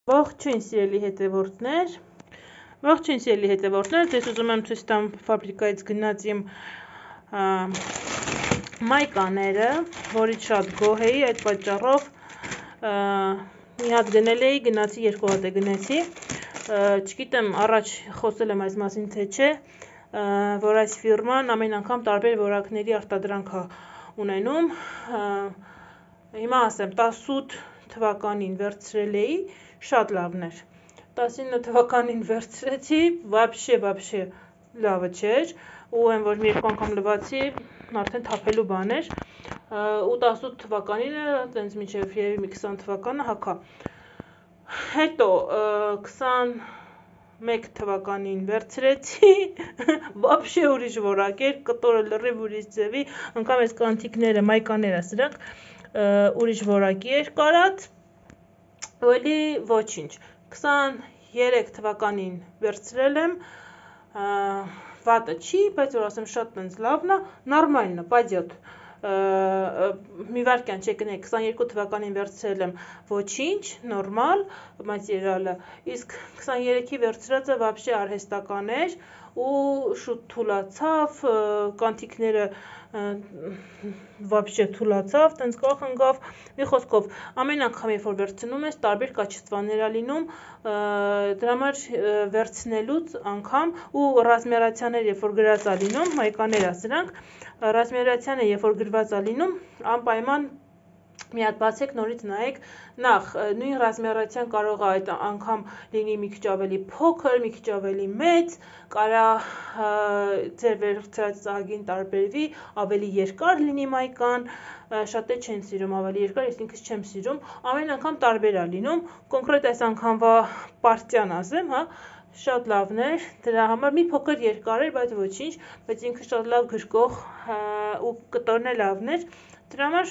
Ողջույն սիրելի հետևորդներ, ձեզ ուզում եմ ցույց տամ ֆաբրիկայից գնած իմ մայկաները, որից շատ գոհ էի, այդ պատճառով մի հատ գնել էի, գնացի, երկու հատ գնեցի, չգիտեմ առաջ խոսել եմ այս մասին թե չէ, որ այս ֆիրման ամեն անգամ տարբեր որակների արտադրանք է ունենում, հիմա ասեմ 18 թվականին վերցրել էի, շատ լավն էր, 19 թվականին վերցրեցի, վաբշե լավը չէր, ու եմ որ մի երկու անգամ լվացի, արդեն թափելու բան էր, ու 18 թվականին տենց մինչև երևի մի 20 թվականը հագա, հետո 21 թվականին վերցրեցի, վաբշե ուրիշ որակ էր, կտորը լրիվ ուրիշ ձևի, անգամ այս կանթիկները, մայկաները սրանք ուրիշ որակի էր կարած, ու էլի ոչինչ, 23 թվականին վերցրել եմ, վատը չի, բայց որ ասեմ շատ տենց լավն է, նորմալն է, պայծյոտ, մի վարկյան չեկնեք, 22 թվականին վերցրել եմ ոչինչ, նորմալ, մատերիալը, իսկ 23-ի վերցրածը վաբշե արհեստական էր, ու շուտ թուլացավ, կանթիկները վաբշե թուլացավ, տենց կախ ընկավ, մի խոսքով, ամեն անգամ երբ որ վերցնում ես, տարբեր կաչեցվածներ է լինում, դրա համար վերցնելուց անգամ, ու ռազմերացիաներ երբ որ գրած է լինում, մայկաներ է սրանք, ռազմերացիանը երբ որ գրված է լինում, անպայման մի հատ բացեք, նորից նայեք, նախ նույն ռազմերացիան կարող է այդ անգամ լինի մի քիչ ավելի փոքր, մի քիչ ավելի մեծ, կարա ձեր վերցրած ծագին տարբերվի, ավելի երկար լինի մայկան, շատեր չեն սիրում ավելի երկար, ես ինքս չեմ սիրում, ամեն անգամ տարբեր է լինում, կոնկրետ այս անգամվա պարտիան ասեմ, հա, շատ լավն էր, դրա համար մի փոքր երկար էր, բայց ոչինչ, բայց ինքը շատ լավ գրկող ու կտորն է լավն էր, դրա համար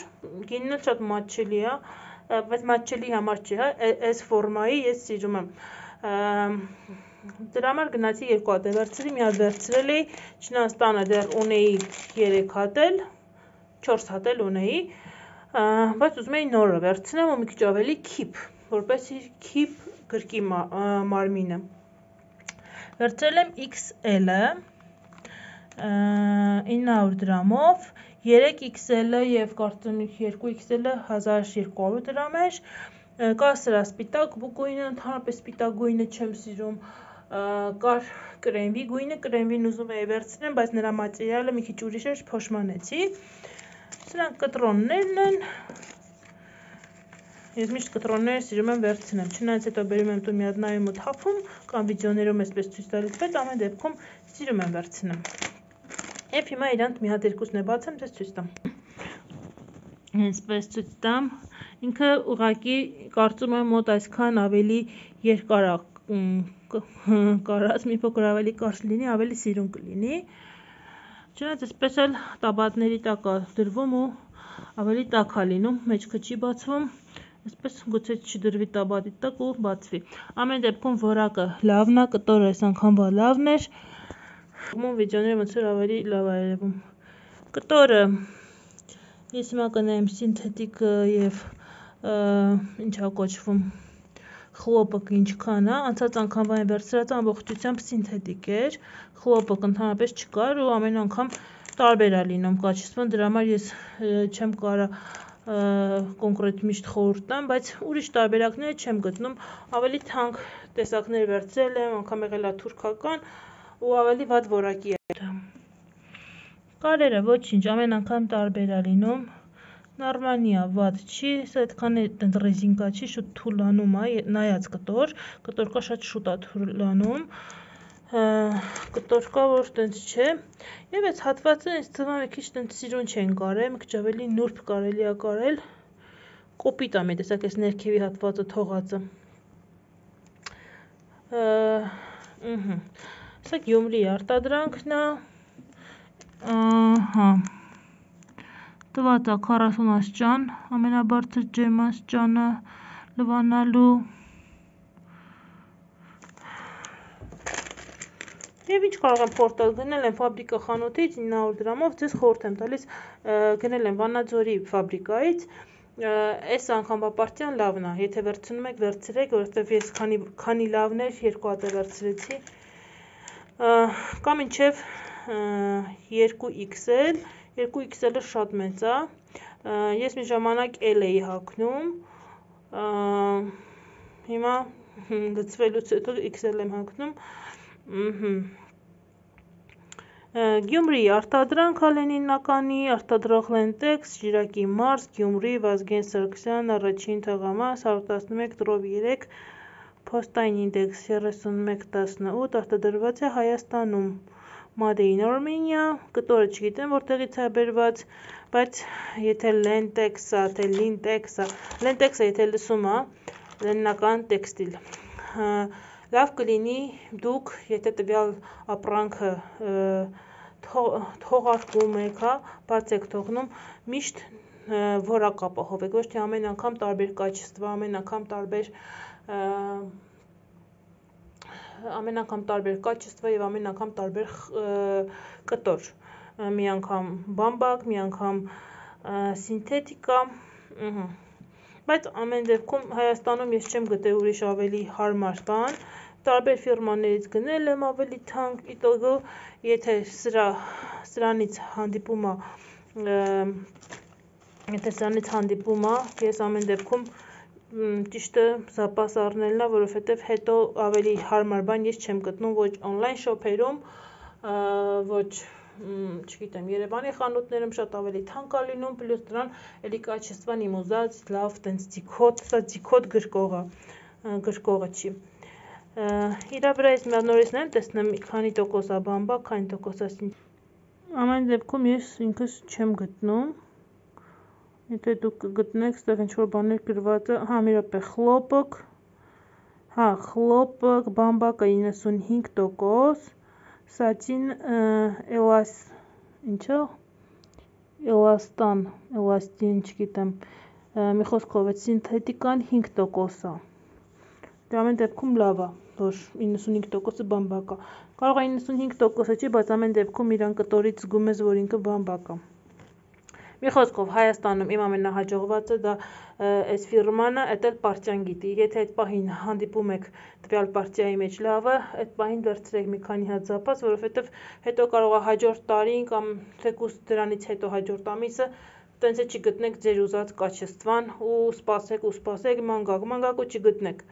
գինն շատ մատչելի է, բայց մատչելի համար չի, այս ֆորմայի ես սիրում եմ, դրա համար գնացի երկու հատ վերցրի, մի հատ վերցրել էի, չնայած տանը դեռ ունեի 3 հատ էլ, 4 հատ էլ ունեի, բայց ուզում էի նորը վերցնեմ ու մի քիչ ավելի քիփ, որպեսզի քիփ գրկի մարմինը, վերցրել եմ XL-ը, 900 դրամով, 3XL-ը և կարծեմ 2XL-ը 1200 դրամ էր, կա սրա սպիտակ գույնը, ընդհանրապես սպիտակ գույնը չեմ սիրում, կար կրեմվի գույնը, կրեմվին ուզում էի վերցնեմ, բայց նրա մատերիալը մի քիչ ուրիշ էր, փոշմանեցի, սրանք կտրոններն են, ես միշտ կտրոնները սիրում եմ վերցնեմ, չնայած հետո բերում եմ տուն մի հատ նայում ու թափում, կամ վիդեոներում այսպես ցույց տալիս, բայց ամեն դեպքում սիրում եմ վերցնեմ, և հիմա իրանք մի հատ երկուսն է բացեմ, ձեզ ցույց տամ, այսպես ցույց տամ, ինքը ուղղակի կարծում եմ մոտ այսքան ավելի երկար կարած, մի փոքր ավելի կարճ լինի, ավելի սիրուն կլինի, չնայած այսպես էլ տաբատների տակ է դրվում ու ավելի տաք է լինում, մեջքը չի բացվում, այսպես գուցե չդրվի տաբատի տակ ու բացվի, ամեն դեպքում որակը լավն է, կտորը այս անգամվա լավն էր, վիդեոները ոնց որ ավելի լավ է երևում, կտորը ես հիմա կնայեմ սինթետիկ և ինչա կոչվում, խլոպը ինչքան է, անցած անգամվա եմ վերցրած ամբողջությամբ սինթետիկ էր, խլոպը ընդհանրապես չկար ու ամեն անգամ տարբեր է լինում կաչեցման, դրա համար ես չեմ կարա կոնկրետ միշտ խորհուրդ տամ, բայց ուրիշ տարբերակները չեմ գտնում, ավելի թանկ տեսակներ վերցրել եմ, անգամ եղել է թուրքական ու ավելի վատ որակի է, կարերը ոչինչ, ամեն անգամ տարբեր է լինում, նորմալնի է, վատ չի, սա այդքան ռեզինկա չի, շուտ թուլանում է, նայած կտոր կա շատ շուտ է թուլանում, կտոր կա, որ տենց չէ, և այս հատվածը ինձ թվում է մի քիչ տենց սիրուն չեն կարել, մի քիչ ավելի նուրբ կարելի է կարել, կոպիտ է մի տեսակ այս ներքևի հատվածը թողածը, սա Գյումրի արտադրանքն է, տված է 40 աստիճան, ամենաբարձր ջերմ աստիճանը լվանալու, և ինչ կարող եմ խորտալ, գնել եմ ֆաբրիկա խանութից 900 դրամով, ձեզ խորհուրդ եմ տալիս, գնել եմ Վանաձորի ֆաբրիկայից, այս անգամ պարտիան լավն է, եթե վերցնում եք, վերցրեք, որովհետև ես քանի լավներ, 2 հատ վերցրեցի, կամ մինչև 2XL, 2XL-ը շատ մեծ է, ես մի ժամանակ L էի հագնում, հիմա լցվելուց հետո XL եմ հագնում, Գյումրի արտադրանք Լենինականի, արտադրող Lentex, Շիրակի մարզ, Գյումրի, Վազգեն Սարգսյան, առաջին թղամաս, 111 տրով 3, Փոստային ինդեքս 3118, արտադրված է Հայաստանում, Made in Armenia, կտորը չգիտեմ որտեղից է բերված, բայց եթե Lentex-ը, թե Lintex-ը, Lentex-ը եթե լսում է, Լենինական տեքստիլ, լավ կլինի դուք, եթե տվյալ ապրանքը թողարկում եք, բաց եք թողնում, միշտ որակ ապահովեք, ոչ թե ամեն անգամ տարբեր կաչեստվա, ամեն անգամ տարբեր կաչեստվա և ամեն անգամ տարբեր կտոր, մի անգամ բամբակ, մի անգամ սինթետիկա, բայց ամեն դեպքում Հայաստանում ես չեմ գտել ուրիշ ավելի հարմար բան, տարբեր ֆիրմաներից գնել եմ ավելի թանկ, իտոգո, եթե սրանից հանդիպում է, ես ամեն դեպքում ճիշտը զապաս առնելն է, որովհետև հետո ավելի հարմար բան ես չեմ գտնում ոչ on-line շոփերում, ոչ չգիտեմ, Երևանի խանութներում շատ ավելի թանկ է լինում, պլյուս դրան էլի կաչեստվան իմ ուզած, լավ, տենց ձիքոտ գրկողը չի։ Իրա վրա ես նորից նայեմ, տեսնեմ քանի տոկոս է բամբակ, քանի տոկոս է սինթետիկ։ Ամեն դեպքում ես ինքս չեմ գտնում, եթե դուք գտնեք, ստեղ ինչ-որ բաներ գրված է, մի րոպե, խլոպկ, բամբակը 95%, սատին էլաստին, չգիտեմ, մի խոսքով է, սինթետիկան 5% է, դե ամեն դեպքում լավ է, որ 95%-ը բամբակ է, կարող է 95%-ը չի, բայց ամեն դեպքում իրան կտորից զգում ես, որ ինքը բամբակ է։ Մի խոսքով Հայաստանում իմ ամենահաջողվածը դա այս ֆիրման է, էդ էլ պարտիան գիտի, եթե այդ պահին հանդիպում եք տվյալ պարտիայի մեջ լավը, այդ պահին վերցրեք մի քանի հատ զապաս, որովհետև հետո կարող է հաջորդ տարին կամ թեկուզ դրանից հետո հաջորդ ամիսը տենց է չգտնեք ձեր ուզած կաչեստվան ու սպասեք, ման գաք ու չգտնեք։